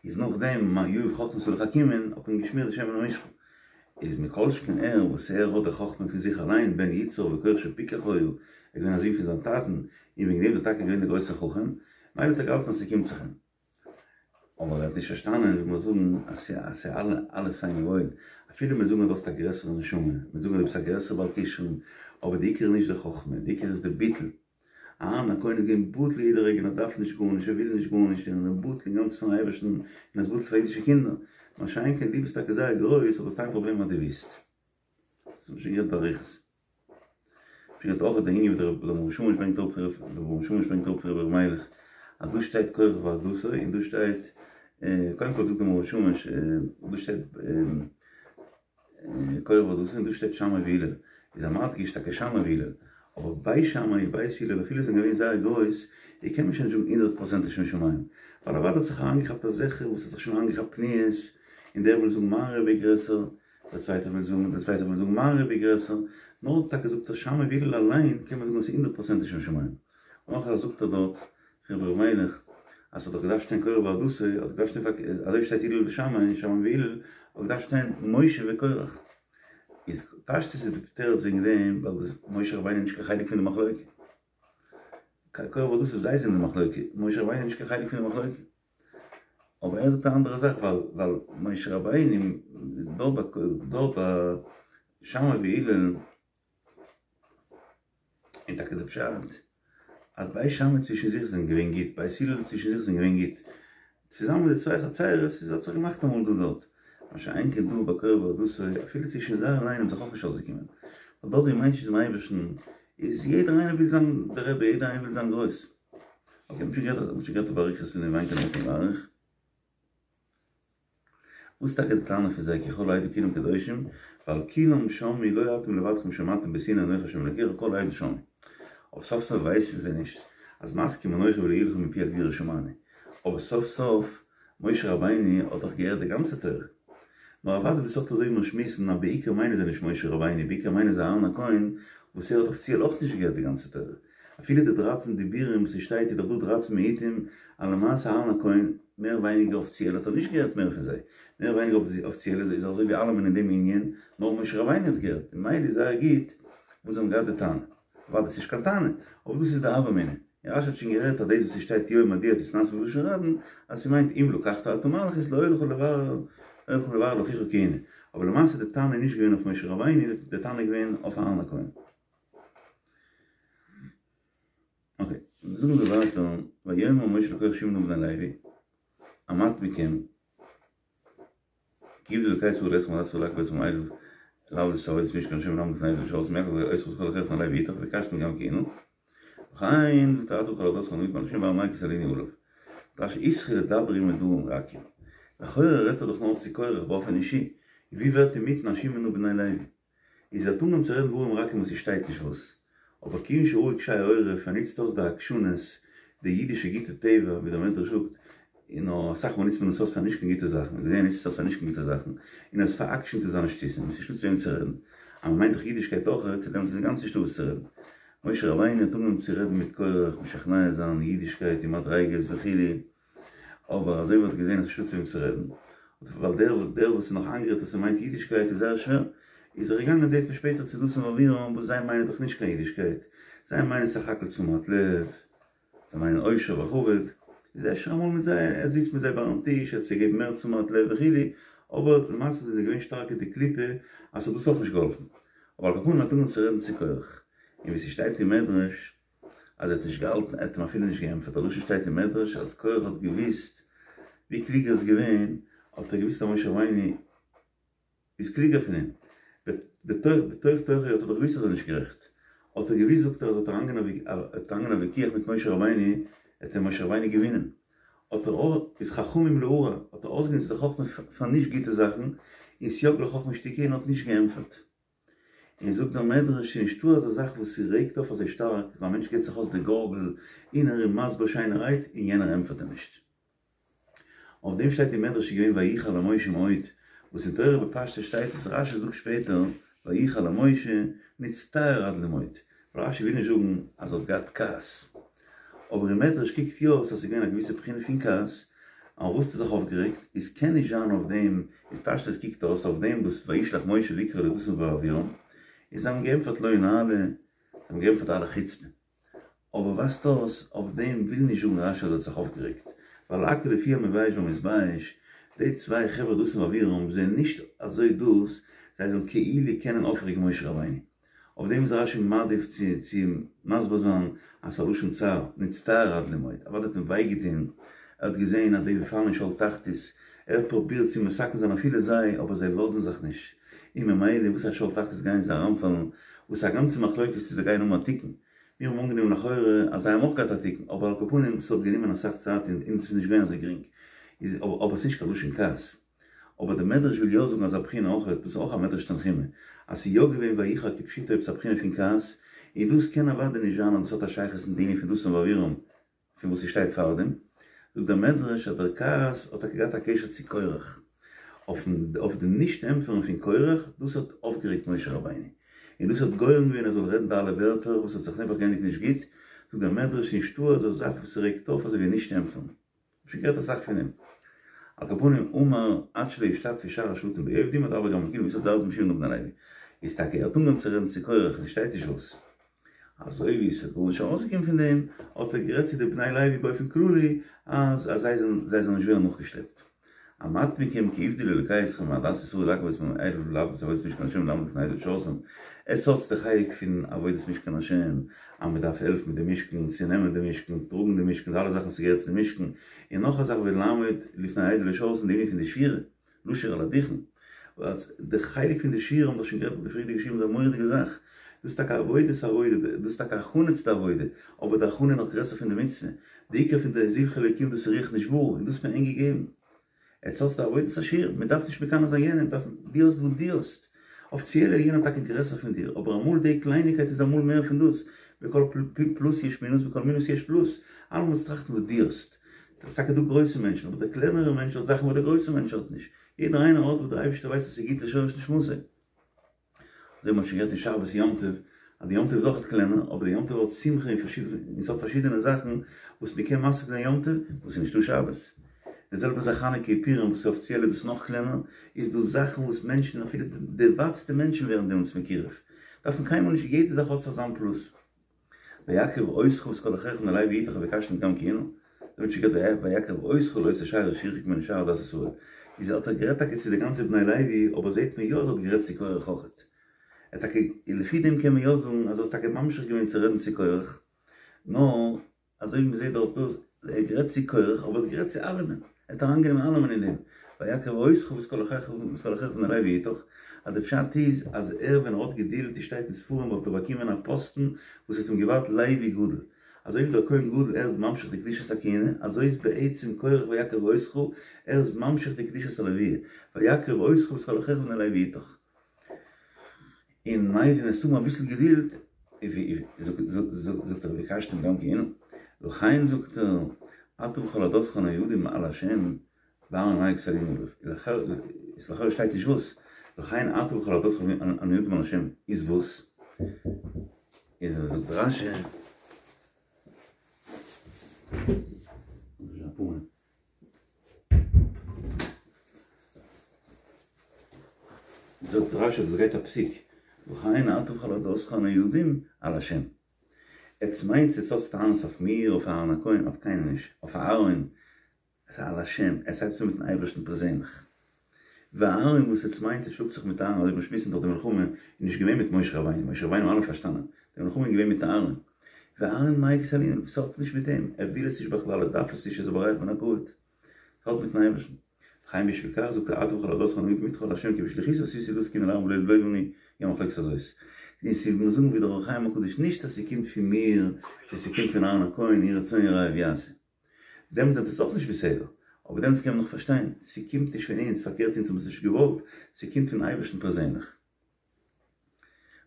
איז נאכדעם מה יהיב חכמתא לחכימין האט מען געשמירט די שמן המשחה, איז מכל שכן ער וואס ער האט די חכמה פון זיך אליין בן יצהר וקורח שפיקח היה, ער איז געווען א זון פון זיין טאטן, און וועגן דעם איז ער טאקע געווען דער גרויסער חכם, מילא האט ער געהאלטן אז ס'קומט זיך אים. אבער ער האט נישט פארשטאנען ווי מיר זאגן אז ס'איז אלעס פיין און וואויל, אפילו מיר זאגן אז דו האסט א גרעסערע נשמה, מיר זאגן אז דו ביסט א גרעסערע בעל כשרון, אבער די עיקר איז נישט די חכמה, די עיקר איז די ביטול. אהרן הכהן איז געווען בטל יעדע רגע און ער דארף נישט גארנישט, ער וויל נישט גארנישט, און ער איז בטל אינגאנצן פארן אייבערשטן, און ער איז בטל פאר אידישע קינדער. מה שאין כן דו ביסט טאקע זייער גרויס, אבער האסט איין פראבלעם אז דו ווילסט. דאס האט מען שוין גערעדט באריכות. שוין גערעדט אויך די ענין וואס דער מאור ושמש ברענגט אראפ דער מאור ושמש ברענגט אראפ פון רבי ר' מיילעך אז דא שטייט קורח ועדתו און דא שטייט קודם כל זאגט דער מאור ושמש דא שטייט קורח ועדתו און דא שטייט שמאי והלל, איז ער מדגיש טאקע שמאי והלל, אבער בית שמאי און בית הלל אפילו זענען געווען זייער גרויס, איז קען מען שוין נישט זאגן הונדערט פראצענט לשם שמים, ווייל אוודאי האט זיך אריינגעכאפט אזעלכע וואס האט זיך שוין אריינגעכאפט פניות, און דער וויל זאגן מיין רבי איז גרעסער, דער צווייטער וויל זאגן, דער צווייטער וויל זאגן מיין רבי איז גרעסער, נאר טאקע זאגט ער שמאי והלל אליין קען מען זאגן אז ס'איז הונדערט פראצענט לשם שמים. נאך א זאך זאגט ער דארט פון רבי ר' מיילעך אז ס'האט דאך געדארפט שטיין קורח ועדתו, האט געדארפט שטיין פארקערט, אזוי ווי שטייט הלל ושמאי, שמאי והלל, האט געדארפט שטיין משה וקורח. איז פשטות איז די תירוץ וועגן דעם ווייל משה רבינו איז נישט קיין חלק פון די מחלוקה. קורח ועדתו זיי זענען די מחלוקה, משה רבינו איז נישט קיין חלק פון די מחלוקה. אבער ער זאגט א אנדערע זאך ווייל ווייל משה רבינו דארט ביי דארט ביי שמאי והלל און טאקע די פשט אז בית שמאי צווישן זיך זענען געווען גוט, בית הלל צווישן זיך זענען געווען גוט, צוזאמען מיט די צוויי חצירות איז האט זיך געמאכט אמאל דא דארט, מה שאין כן דא ביי קורח ועדתו, אפילו צווישן זיי אליין האבן זיך אויך נישט אויסגעקומען, ווייל דארט ווי מ'מיינט נישט דעם אייבערשטן איז יעדער איינער וויל זיין דער רבי, יעדער איינער וויל זיין גרויס. אקעי, מ'האט שוין גערעדט מ'האט שוין גערעדט באריכות פון דעם וויינקען נאכן באריכט. וואס איז טאקע די טענה פון זיי כי כל העדה כולם קדושים, ווייל כולם שמעו לא אתם לבדכם שמעתם בסיני אנכי ה' אלקיך כל העדה שמעו. אבער סוף סוף ווייסן זיי נישט אז מסכים אנכי ולא יהיה לך מפי הגבורה שמענו. אבער סוף סוף משה רבינו האט דאך געהערט די גאנצע תורה. נאר אוודאי דאס איז אויך אזוי ווי מיר שמועסן אז בעיקר מיינען זיי נישט משה רבינו בעיקר מיינען זיי אהרן הכהן וואס ער האט אפיציעל אויך נישט געהערט די גאנצע תורה. אפילו די דרייצן דיבורים וואס ס'שטייט איז דאך דא דרייצן מיעוטים, אז למעשה אהרן הכהן מער ווייניגער אפיציעל האט ער נישט געהערט מער פון זיי, מער ווייניגער אפיציעל איז ער אזוי ווי אלעמען אין דעם ענין, נאר משה רבינו האט געהערט, און ממילא איז זייער גוט וואס זיי האבן געהאט די טענה. אוודאי ס'נישט קיין טענה, אבער דאס איז די הוה אמינא. און רשי האט שוין גערעדט אז דאס וואס ס'שטייט יום מדוע תתנשא בלשון רבים, אז ס'מיינט אם לקחת אתה מלכות לא היה לך לברר לא היה לך לברר לאחיך כהונה. אבער למעשה די טענה איז נישט געווען אויף משה רבינו, די טענה איז געווען אויף אהרן הכהן. אקעי, זאגן זיי ווייטער, ויאמר משה לקרח שמעה נא בני לוי, המעט מכם, כי יגדיל אלוקי ישראל אתכם ועדת ישראל להקריב אתכם האלה לעבוד את עבודת משכן השם ולעמוד לפני העדה לשרתם ויקח אותך ואת כל אחיך בני לוי אתך ובקשתם גם כהונה, וכן זאגט ער אתה וכל עדתך הנהוגים על השם בהר מיין כי תלינו עליו. רשי התחיל לדבר עמו דברים רכים. לכאורה רעדט ער דאך נאר צו קורח באופן אישי, ווי ווערט אינמיטן א שמעה נא בני לוי? איז ער האט אנגעהויבן צו רעדן דברים רכים וואס ס'שטייט נישט וואס, אבער כיוון שראה קשי עורף, ער נוצט אויס די עקשנות, די אידישע גוטע טבע, ווי דער מדרש זאגט. און נאר אסאך מאל נוצט מען עס אויס פאר נישט קיין גוטע זאכן, און ער נוצט עס אויס פאר נישט קיין גוטע זאכן, און ער איז פאר'עקשנ'ט אין זיינע שטותים, און ס'איז נישטא צו וועם צו רעדן. אז מ'מיינט דאך אידישקייט אויכעט, דעמאלטס איז אינגאנצן נישטא וואס צו רעדן. משה רבינו האט אנגעהויבן צו רעדן מיט קורח, משכנע זיין אידישקייט און מדריגות וכו', אבער אזוי ווי ער האט געזען אז ס'נישטא צו וועם צו רעדן, ווייל דער דער וואס איז נאך איינגערעדט אז ס'מיינט אידישקייט איז זייער שווער, איז ער געגאנגען זעט מען שפעטער צו דתן ואבירם וואס זיי מיינען דאך נישט קיין אידישקייט, זיי מיינען סך הכל תשומת לב, זיי מיינען עושר וכבוד, איז אפשר אמאל מיט זיי, ער זיצט מיט זיי ביים טיש, ער האט זיי געגעבן מער תשומת לב וכו', אבער למעשה זענען זיי געווען שטארק אין די קליפה אז ס'האט דאס אויך נישט געהאלפן. אבער על כל פנים האט אנגעהויבן צו רעדן צו קורח, און ווי ס'שטייט אין מדרש אז ער האט נישט געהאלטן, ער האט אים אפילו נישט געענטפערט, א לשון שטייט אין מדרש אז קורח האט געוואוסט ווי קלוג ער איז געווען, האט ער געוואוסט אז משה רבינו איז קלוגער פון אים. בתוך בתוך תוכו האט ער דאך געוואוסט אז ער איז נישט גערעכט. האט ער געוואוסט זאגט ער אז ער וועט אריינגיין א וויכוח מיט משה רבינו, וועט אים משה רבינו געווינען. האט ער אויך, איז חכמים להרע, האט ער אויסגענוצט די חכמה פאר נישט גוטע זאכן, און סייג לחכמה שתיקה און האט נישט געענטפערט. און זאגט דער מדרש ס'איז נישטא אזא זאך וואס ס'רעגט אויף אזוי שטארק, ווען א מענטש געבט זיך אויס די גארגל און ער איז מסביר שיינערהייט און יענער ענטפערט אים נישט. אויף דעם שטייט אין מדרש איז געווען ויחר למשה מאוד, וואס אין תורה בפשטות שטייט עס, רשי זאגט שפעטער ויחר למשה נצטער עד למאוד, ווייל רשי וויל נישט זאגן אז ער האט געהאט כעס, אבער אין מדרש קוקט יא אויס אז ס'איז געווען א געוויסע בחינה פון כעס, אויף וואס האט ער זיך אויפגערעגט, איז קען נישט זיין אויף דעם, איז פשטות קוקט אויס אויף דעם וואס וישלח משה לקרא לדתן ואבירם, און זיי האבן געענטפערט לא נעלה, זיי האבן געענטפערט אלע חוצפה. אבער ווייזט אויס אויף דעם וויל נישט זאגן רשי אז ער האט זיך אויפגערעגט, ווייל הכל לפי המבייש והמתבייש, די צוויי חברה דתן ואבירם זענען נישט אזוי דאס זיי זאלן כאילו קענען אויפרעגן משה רבינו. אויף דעם איז רשי מעדיף צו צו מסביר זיין אז ס'איז א לשון צער, נצטער עד למאוד, אוודאי האט אים וויי געטון, ער האט געזען אז די פאלן אין שאול תחתית, ער האט פרובירט צו מתקן זיין אפילו זיי, אבער זיי לאזן זיך נישט, און ממילא וואס א שאול תחתית גייען זיי אריינפאלן, וואס איז א גאנצע מחלוקת צו זיי גייען האבן א תיקון, מיר האבן אנגענומען לכאורה אז זיי האבן אויך געהאט א תיקון, אבער על כל פנים ס'האט גענומען אסאך צייט און און ס'איז נישט געווען אזוי גרינג, איז אבער ס'נישט קיין לשון כעס. אבער די מדרש וויל יא זאגן אזא בחינה אויך, דאס איז אויך א מדרש תנחומא, אז ס'איז יא געווען ויחר כפשוטו עפעס א בחינה פון כעס, און דאס קען אוודאי נישט זיין אז דאס האט א שייכות מיט די ענין פון דתן ואבירם, פון וואס ס'שטייט פארדעם, זאגט דער מדרש אז דער כעס האט טאקע געהאט א קשר צו קורח, אויף די נישט ענטפערן פון קורח, דאס האט אויפגערעגט משה רבינו, און דאס האט גורם געווען ער זאל רעדן די אלע ווערטער וואס האט זיך נעבעך געענדיגט נישט גוט, זאגט דער מדרש נישטא אזא זאך וואס ס'רעגט אויף אזוי ווי נישט ענטפערן. שוין געהערט אסאך פון אים. על כל פנים אמר עד שלא ישתתפו שאר השבטים בעובדים אדבר גם אל כולם ויסב ד' משבעים לבני לוי. איז טאקע ער האט אנגעהויבן צו רעדן צו קורח און ס'שטייט נישט וואס. אזוי ווי ס'איז גארנישט ארויסגעקומען פון דעם האט ער גערעדט צו די בני לוי באופן כללי אז אז זיי זאלן זיי זאלן נישט ווערן נאכגעשלעפט. המעט מכם כי הבדיל אלוקי אתכם מעדת ישראל להקריב את אלה לעבוד את עבודת משכן השם ולעמוד לפני העדה לשרתם. עטס האטס די חלק פון עבודת משכן השם, אז מען דארף העלפן מיט די משכן, צו נעמען די משכן, טראגן די משכן, די אלע זאכן וואס געהערט צו די משכן, און נאך א זאך ולעמוד לפני העדה לשרתם די ענין פון די שירה, לשיר על הדוכן, די חלק פון די שירה האבן מיר דאך שוין גערעדט ביי די פריערדיגע שיעורים איז א מורא'דיגע זאך, דאס איז טאקע עבודת עבודה, דאס איז טאקע הכנה צו די עבודה, אבער די הכנה איז נאך גרעסער פון די מצוה, די עיקר פון די זבחי אלוקים דאס איז רוח נשברה, און דאס האט מען ענק געגעבן. עטס האטס די עבודת השירה, מען דארף נישט מקנא זיין יענעם, דארף, דו האסט וואס דו האסט, אפיציעל איז יענער טאקע גרעסער פון דיר, אבער אמאל די קלייניקייט איז אמאל מער פון דאס, בכל פלוס יש מינוס בכל מינוס יש פלוס, אלעמאל זאלסט טראכטן וואס דו האסט, ס'איז טאקע דא גרויסע מענטשן, אבער דער קלענערער מענטש האט זאכן וואס דער גרויסער מענטש האט נישט, יעדער איינער האט וואס דער אייבערשטער ווייסט אז ס'איז גוט לשורש נשמתו. אזוי ווי מ'האט שוין גערעדט אין שבת יום טוב, אז די יום טוב איז אויכעט קלענער, אבער די יום טוב האט שמחה און און ס'האט פארשידענע זאכן וואס מ'קען משיג זיין יום טוב וואס איז נישטא שבת. די זעלבע זאך חנוכה און פורים וואס איז אפיציעל איז דאס נאך קלענער, איז דא זאכן וואס מענטשן אפילו די ווייטסטע מענטשן ווערן דעמאלטס מקורב. דארף מען קיינמאל נישט יעדע זאך האט זיך זיין פלוס. ויקרב אותך ואת כל אחיך בני לוי אתך ובקשתם גם כהונה, דער מענטש גערעדט ויקרב אותך לאותו שאר אשר ירחק ממנו שאר עדת ישראל, איז האט ער גערעדט טאקע צו די גאנצע בני לוי, אבער זעהט מען יא אז ער האט גערעדט צו קורח אויכעט, ער טאקע, לפי דעם קען מען יא זאגן אז ער האט טאקע ממשיך געווען צו רעדן צו קורח, נאר אזוי ווי מ'זעהט דארט דאס, ער האט גערעדט צו קורח אבער ער האט גערעדט צו אלעמען, ער האט אריינגענומען אלעמען אין דעם, ויקרב אותך ואת כל אחיך ואת כל אחיך בני לוי אתך, אז די פשט איז אז ער ווען ער האט געדילט ווי שטייט אין ספרים וואלט ער באקומען א פאסטן וואס האט אים געווארט לוי גדול, אזוי ווי דער כהן גדול ער איז ממשיך די קדושת הכהונה, אזוי איז בעצם קורח ויקרב אותך ער איז ממשיך די קדושת הלוויה, ויקרב אותך ואת כל אחיך בני לוי אתך. און ממילא וועסט האבן אביסל געדולד, זאגט ער ובקשתם גם כהונה, לכן זאגט ער. אתה וכל עדתך הנועדים על השם ואהרן מאי קא סלינן עליו, איז לכאורה שטייט נישט וואס, לכן אתה וכל עדתך הנועדים על השם איז וואס? איז זאגט רש"י זאגט רש"י דאס גייט א פסיק, וכן אתה וכל עדתך הנועדים על השם. עטס מיינטס עטס האטס טענות אויף מיר, אויף אהרן הכהן, אויף קיינעם נישט, אויף אהרן, עס איז על השם, עס הייבט אן מיטן אייבערשטן פערזענליך. ואהרן וואס עטס מיינטס עטס שלאגט זיך מיט אהרן אזוי מיר שמועסן דאך די מלחמה איז נישט געווען מיט משה רבינו, משה רבינו האבן אלע פארשטאנען, די מלחמה איז געווען מיט אהרן. ואהרן מאי קא סלינן, עס האט נישט מיט אים, ער וויל עס נישט בכלל, ער דארף עס נישט, ער איז בורח מן הכבוד. האלט מיטן אייבערשטן. וכן בשביל כך זאגט ער אתה וכל עדתך הנועדים אתך על השם כי בשליחותי עשיתי דאס כי הנה לאהרן ולא לנו היא המחלוקת הזאת. און ס'איז מיר זאגן ווי דער אור החיים הקדוש נישט אז ס'קומט פון מיר צו ס'קומט פון אהרן הכהן יהי רצון יראיו יעשה. דעמאלטס איז עס אויך נישט בסדר. אבער דעמאלטס קען מען נאך פארשטיין, ס'קומט נישט פון אונז, פארקערט אונז האבן עס נישט געוואלט, ס'קומט פון אייבערשטן פערזענליך.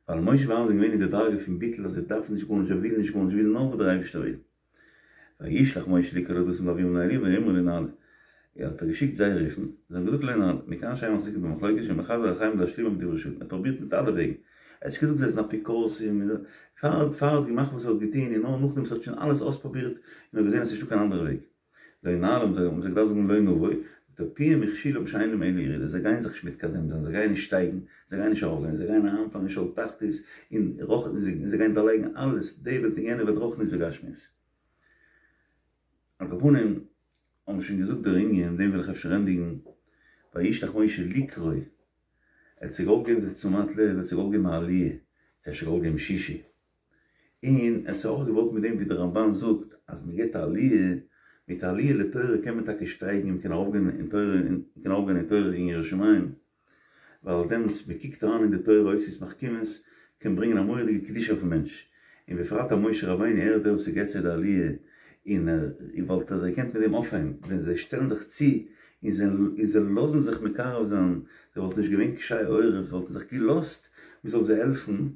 ווייל משה ואהרן זענען געווען אין די דרגה פון ביטול אז זיי דארפן נישט גארנישט, זיי ווילן נישט גארנישט, זיי ווילן נאר וואס דער אייבערשטער וויל. וישלח משה לקרוא לדתן ולאבירם בני אליאב ויאמרו לא נעלה. ער האט געשיקט זיי רופן, זיי האבן געזאגט לא נעלה, מכאן שאין מחזיקין במחלוקת שמחזר אחריהם להשלימם בדברי שלום, ער האט פרובירט מיט אלע וועגן, ער האט נישט געזאגט זיי זענען אפיקורסים, פאר ער האט געמאכט וואס ער האט געטון און נאר נאכדעם וואס ער האט שוין אלעס אויספרובירט און האט געזען אז ס'נישטא קיין אנדערע וועג. לא נעלה האבן זיי געדארפט זאגן לא נבוא, זאגט ער פיהם הכשילם שאין להם אלא ירידה, זיי גייען זיך נישט מתקדם זיין, זיי גייען נישט שטייגן, זיי גייען נישט ארויפגיין, זיי גייען אריינפאלן אין שאול תחתית, און רוחניות, זיי גייען דערלייגן אלעס, די וועלט און יענע וועלט רוחניות וגשמיות. על כל פנים, האבן מיר שוין געזאגט דער ענין, מיט דעם וויל איך אפשר ענדיגן, וישלח משה לקרוא, ער האט זיי געוואלט געבן די תשומת לב, ער האט זיי געוואלט געבן א עליה, ער האט אפשר געוואלט געבן שישי, און ער האט זיי אויך געוואלט מיט דעם ווי דער רמב"ן זאגט אז מען געבט א עליה, מיט א עליה לתורה קען מען טאקע שטייגן און מען קען ארויפגיין אין תורה און מען קען ארויפגיין אין תורה און יראת שמים, ווייל דעמאלטס מען קוקט אריין אין די תורה אותיות מחכימות קען ברענגען א מורא'דיגע קדושה אויפן מענטש, און בפרט אז משה רבינו ער איז דער וואס געבט זיי די עליה און ער וואלט זיי געקענט מיט דעם אויפהייבן ווען זיי שטעלן זיך צו און זיי און זיי לאזן זיך מקרב זיין, זיי וואלטן נישט געווען קשי עורף, זיי וואלטן זיך געלאזט מען זאל זיי העלפן.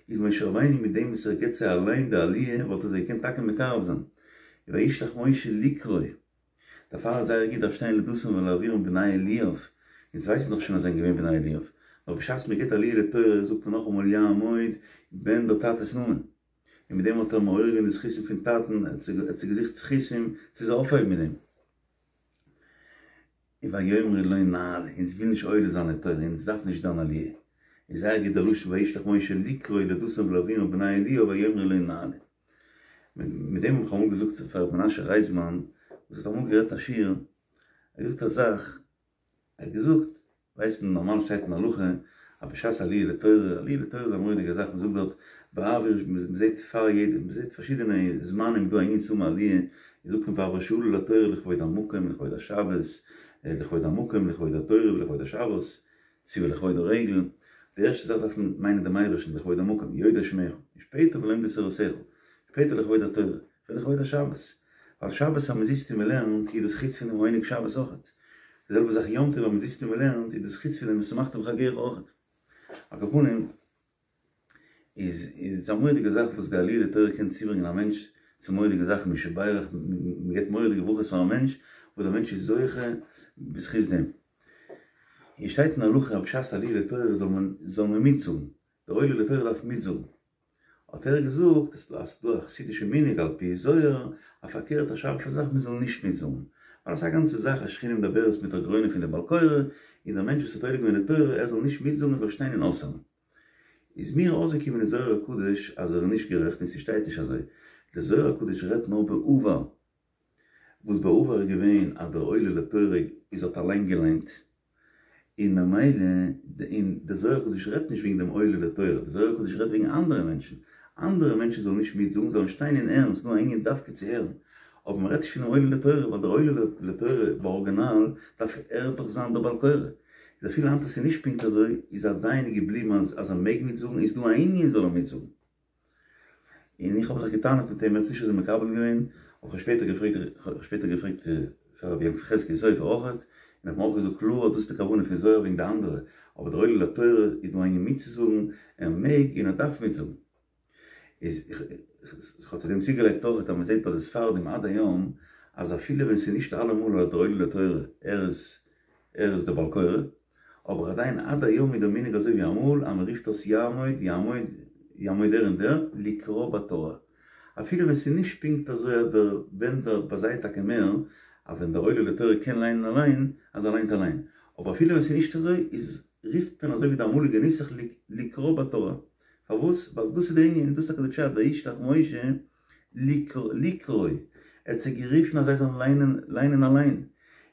איז משה רבינו מיט דעם וואס ער געבט זיי אליין די עליה וואלט ער זיי געקענט טאקע מקרב זיין, וישלח משה לקרוא, דערפאר איז זייער גוט דארף שטיין לדתן ולאבירם בני אליאב, אונז ווייסן דאך שוין אז זיי זענען געווען בני אליאב, נאר בשעת מען געבט עליה לתורה זאגט מען נאכאמאל יעמוד בן דער טאטע'ס נאמען, און מיט דעם האט ער מעורר געווען די זכותים פון טאטן, ער האט זיי געזוכט זכותים צו זיי אויפהייבן מיט דעם. און ויאמרו לא נעלה, אונז וויל נישט עולה זיין לתורה, אונז דארף נישט דיין עליה. איז זייער גוט דער לשון וישלח משה לקרוא לדתן ולאבירם בני אליאב ויאמרו לא נעלה. מיט דעם האב איך אמאל געזאגט פאר ר' מנשה רייזמאן וואס האט אמאל גערעדט א שיעור, ער האט געזאגט א זאך, ער האט געזאגט, ווייסט מען נארמאל שטייט אין הלכה אז בשעת עליה לתורה, עליה לתורה איז א מורא'דיגע זאך, מען זאגט דארט בעבור, מען זעט פאר יעדע, מען זעט פארשידענע זמנים איז דא א ענין צו האבן עליה, זאגט מען בעבור שעלו לתורה לכבוד המקום לכבוד השבת, לכבוד המקום לכבוד התורה ולכבוד השבת, צו ולכבוד הרגל, די ערשטע זאך דארף מען מיינען דעם אייבערשטן לכבוד המקום, יודעי שמך, און שפעטער ולומדי תורתך, שפעטער לכבוד התורה, ולכבוד השבת, ווייל שבת אז מען זיצט און מען לערנט איז דאס חוץ פונעם עונג שבת אויכעט, די זעלבע זאך יום טוב אז מען זיצט און מען לערנט איז דאס חוץ פונעם ושמחת בחגך אויכעט. על כל פנים איז איז א מורא'דיגע זאך וואס די עליה לתורה קען צוברענגען א מענטש צו מורא'דיגע זאכן מי שברך, מען געבט מורא'דיגע ברכות פאר א מענטש וואס דער מענטש איז זוכה בזכות דעם. און שטייט אין הלכה אז בשעת עליה לתורה זאל מען זאל מען מיטזאגן, דער עולה לתורה דארף מיטזאגן. האט ער געזאגט אז ס'איז דא א חסידישע מנהג על פי זוהר אז פארקערט א שארפע זאך מען זאל נישט מיטזאגן, ווייל עס איז א גאנצע זאך א שכינה מדברת מתוך גרונו פון די בעל קורא, און דער מענטש וואס האט עולה געווען לתורה ער זאל נישט מיטזאגן ער זאל שטיין און אויסהערן. איז מיר אויסגעקומען אין זוהר הקדוש אז ער איז נישט גערעכט און ס'שטייט נישט אזוי, דער זוהר הקדוש רעדט נאר בעבר, וואס בעבר איז געווען אז דער עולה לתורה איז האט אליין געליינט, און ממילא, און דער זוהר הקדוש רעדט נישט וועגן דעם עולה לתורה, דער זוהר הקדוש רעדט וועגן אנדערע מענטשן, אנדערע מענטשן זאלן נישט מיטזאגן, זאלן שטיין און הערן, ס'איז דא א ענין דווקא צו הערן, אבער מ'רעדט נישט פונעם עולה לתורה, ווייל דער עולה לתורה בארגינאל דארף ער דאך זיין דער בעל קורא, איז אפילו היינט אז ס'איז נישט פונקט אזוי, איז עדיין געבליבן אז אז ער מעג מיטזאגן, איז דא א ענין זאל ער מיטזאגן. און איך האב זיך געטענה'ט מיט אים, ער האט עס נישט אזוי מקבל געווען, אבער כ'האב שפעטער געפרעגט, כ'האב שפעטער געפרעגט פאר רבי יעקב חזקי' סופר אויכעט, און ער האט מיר אויך געזאגט קלאר אז דאס איז די כוונה פון זוהר וועגן די אנדערע, אבער דער עולה לתורה איז דא א ענין מיטצוזאגן, ער מעג און ער דארף מיטזאגן. איז איך האב צו דעם צוגעלייגט אויכעט אז מען זעט ביי די ספרדים עד היום. אז אפילו ווען ס'איז נישט אלעמאל אז דער עולה לתורה ער איז ער איז דער בעל קורא, אבער עדיין עד היום איז דער מנהג אזוי ווי אמאל אז מען רופט אויס יעמוד יעמוד יעמוד דער און דער לקרוא בתורה. אפילו ווען ס'איז נישט פונקט אזוי אז דער ווען דער ביי זיי טאקע מער אז ווען דער עולה לתורה קען ליינען אליין אז ער ליינט אליין, אבער אפילו ווען ס'איז נישט אזוי איז רופט מען אזוי ווי די אמאליגע נוסח לקרוא בתורה. פארוואס? ווייל דאס איז די ענין און דאס איז טאקע די פשט וישלח משה לקרוא, ער האט זיי גערופן אז זיי זאלן ליינען ליינען אליין,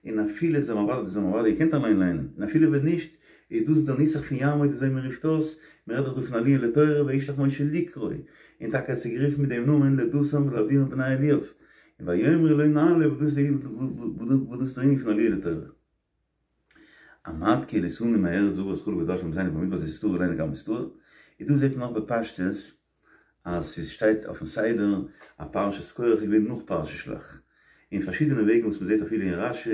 און אפילו זיי האבן אוודאי זיי האבן אוודאי געקענט אליין ליינען, און אפילו ווען נישט, איז דאס דער נוסח פון יעמוד וויאזוי מען רופט אויס, מען רעדט דאך דא פון עליה לתורה וישלח משה לקרוא, און טאקע ער האט זיי גערופן מיט דעם נאמען לדתן ולאבירם בני אליאב, און ויאמרו לא נעלה וואס דאס איז דער ענין פון עליה לתורה. עמד כי העליתנו מהארץ הארץ חלב ודבש לאבותינו במדבר כי תסתרו עלינו גם בסתר, און דא זעט מען אויך בפשטות אז ס'שטייט אויפן סדר אז פרשת קרח איז געווען נאך פרשת שלח, אין פארשידענע וועגן וואס מ'זעט אפילו אין רש"י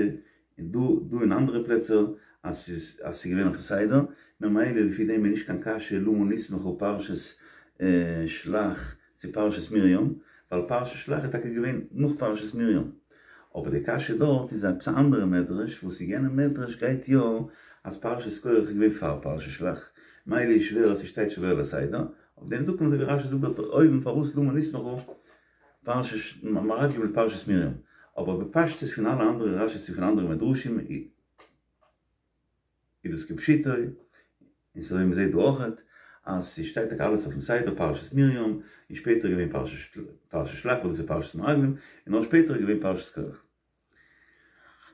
און דא דא אין אנדערע פלעצער אז ס'איז אז ס'איז געווען אויפן סדר, ממילא לפי דעם איז נישט קיין קשיא למה נסמכה פרשת שלח צו פרשת מרים, ווייל פרשת שלח איז טאקע געווען נאך פרשת מרים. אבער די קשיא דארט איז עפעס א אנדערע מדרש, וואס אין יענעם מדרש גייט יא אז פרשת קרח איז געווען פאר פרשת שלח, מילא איז שווער אז ס'שטייט שלא על הסדר, אויף דעם זאגט מען אזוי ווי רש"י זאגט דארט אויבן פארוואס למה נסמכה פרשת מרגלים לפרשת מרים, אבער בפשטות פון אלע אנדערע רש"י'ס און פון אנדערע מדרשים איז דאס כפשוטו, און ס'אזוי מ'זעט דא אויכעט אז ס'שטייט טאקע אלעס אויפן סדר פרשת מרים, און שפעטער איז געווען פרשת שלח וואס דאס איז פרשת מרגלים, און נאר שפעטער איז געווען פרשת קרח.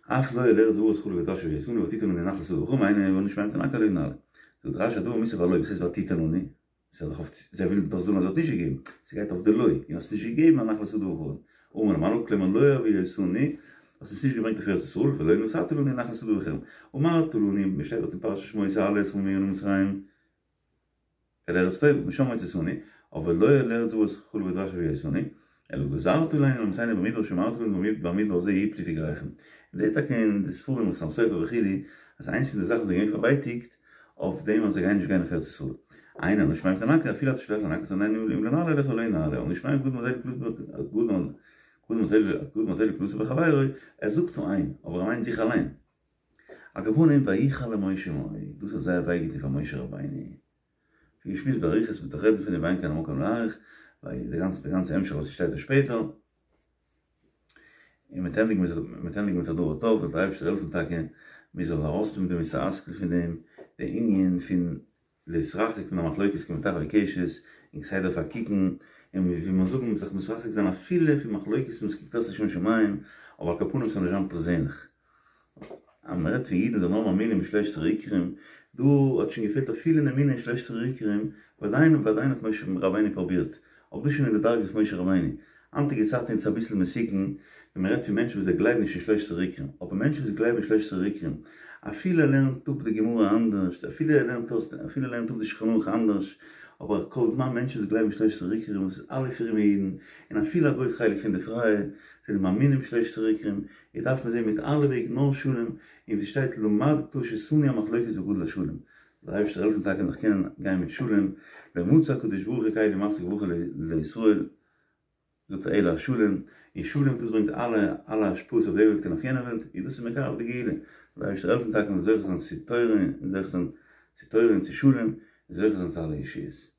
אף לא אל ארץ זבת חלב ודבש הביאתנו ותתן לנו נחלת שדה וכרמים הנה אנו שומעים תנקר לא נעלה. זאגט רש"י הדבר מוסב על לא, וואס הייסט ותתן לנו? ס'איז דאך אויף, זיי ווילן דאך זאגן אז ער האט נישט געגעבן, ס'גייט אויף די לא, און האסט נישט געגעבן א נחלת שדה וכרמים. אמר למעלה כלומר לא הביאתנו, האסט אונז נישט געברענגט אויף ארץ ישראל, ולא נתת לנו נחלת שדה וכרם. אמרת לנו, שטייט דארט אין פרשת שמות אעלה אתכם ממנה מצרים אל ארץ טובה, משם הוצאתנו, אבער לא אל ארץ זבת חלב ודבש הביאתנו, אלא גזרת עלינו להמיתנו במדבר שאמרת לנו במדבר הזה יפלו פגריכם. מ'זעט טאקע אין די ספרים חתם סופר וכו' אז איינס פון די זאכן וואס זיי זענען געווען פארווייטיגט אויף דעם אז זיי גייען נישט גיין אויף ארץ ישראל. אין אנו שומעים תנקר אפילו אתה שולח לנקר את אם לא נעלה אליך לא נעלה אנו שומעים קודם קודם הזה לקלסו בחבירו ער זאגט נאר איין אבער ער מיינט זיך אליין. על כל פנים ויחר למשה מאוד דאס האט זייער וויי געטון פאר משה רבינו. ווי געשמועסט באריכות מ'וועט דאך רעדן פון דעם ואין כאן המקום להאריך, ווייל די גאנצע די גאנצע המשך וואס שטייט דא שפעטער, און מ'וועט ענדיגן מיט מ'וועט ענדיגן מיט א דבר טוב, זאל דער אייבערשטער העלפן טאקע מיר זאלן ארויסנעמען די מוסר השכל פון דעם, די ענין פון להתרחק מן המחלוקת כמטחווי קשת, און כסדר פארקוקן, און ווי מיר זאגן זיך מתרחק זיין אפילו פון מחלוקת וואס קוקט אויס לשם שמים, אבער על כל פנים ס'זאל נישט זיין פערזענליך. אז מען רעדט פון אידן זענען נאר מאמינים בשלושת עשר עיקרים, דא האט שוין געפעלט אפילו אין אמונה אין שלושת עשר עיקרים, ועדיין ועדיין האט משה רבינו פרובירט, אבער דאס שוין אין די דרגה פון משה רבינו, היינטיגע צייטן איז עס אביסל מסוכן ווען מען רעדט פון מענטשן וואס זיי גלייבן נישט אין שלושת עשר עיקרים, אבער מענטשן וואס גלייבן אין שלושת עשר עיקרים, אפילו ער לערנט אפ די גמרא אנדערש, אפילו ער לערנט אויס, אפילו ער לערנט אפ די שולחן ערוך אנדערש, אבער כל זמן מענטשן וואס גלייבן אין שלושת עשר עיקרים וואס איז אלע פרומע אידן, און אפילו א גרויס חלק פון די פרייע, זענען מאמינים בשלושת עשר עיקרים, איז דארף מען זען מיט אלע וועגן נאר שלום, און ווי ס'שטייט למדת ששנוא המחלוקת וגדול השלום, זאל דער אייבערשטער העלפן טאקע נאך קענען גיין מיט שלום, לא מצא הקדוש ברוך הוא כלי מחזיק ברכה לישראל, זאגט ער אלא השלום, און שלום דאס ברענגט אלע אלע השפעות אויף די וועלט און אויף יענע וועלט, און דאס איז מקרב די גאולה, זאל דער אייבערשטער העלפן טאקע מ'זאל זוכה זיין צו תורה און זוכה זיין צו תורה און צו שלום, און זוכה זיין צו אלע ישועות.